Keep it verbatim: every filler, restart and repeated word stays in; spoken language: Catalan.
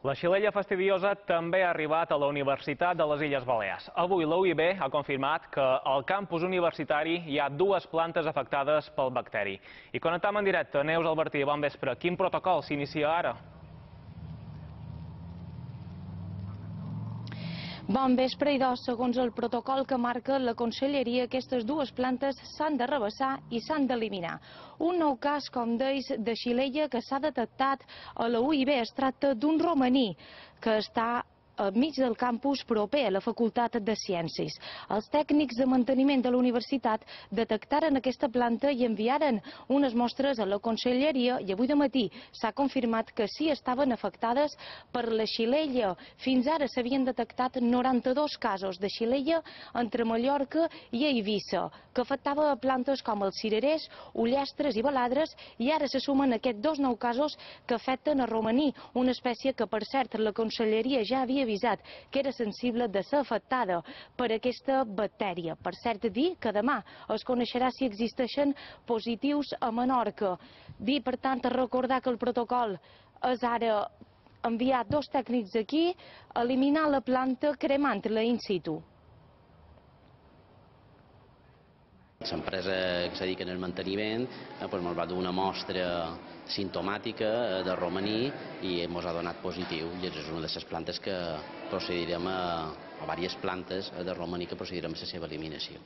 La xilella fastidiosa també ha arribat a la Universitat de les Illes Balears. Avui la U I B ha confirmat que al campus universitari hi ha dues plantes afectades pel bacteri. I connectam en directe. Neus Albertí, bon vespre. Quin protocol s'inicia ara? Bon vespre, idò. Segons el protocol que marca la Conselleria, aquestes dues plantes s'han de rebassar i s'han d'eliminar. Un nou cas, com deis, de xilella que s'ha detectat a la U I B. Es tracta d'un romaní que està al mig del campus proper a la Facultat de Ciències. Els tècnics de manteniment de la universitat detectaren aquesta planta i enviaren unes mostres a la Conselleria i avui de matí s'ha confirmat que sí estaven afectades per la xilella. Fins ara s'havien detectat noranta-dos casos de xilella entre Mallorca i Eivissa, que afectava a plantes com els cirerers, ullastres i baladres, i ara se sumen aquests dos nous casos que afecten a romaní, una espècie que, per cert, la Conselleria ja havia avisat que era sensible de ser afectada per aquesta bactèria. Per cert, dir que demà es coneixerà si existeixen positius a Menorca. Dir, per tant, recordar que el protocol és ara enviar dos tècnics aquí, eliminar la planta cremant-la in situ. L'empresa que se dedica al manteniment ens va donar una mostra simptomàtica de romaní i ens ha donat positiu. I és una de les plantes que procedirem a, a diverses plantes de romaní que procedirem a la seva eliminació.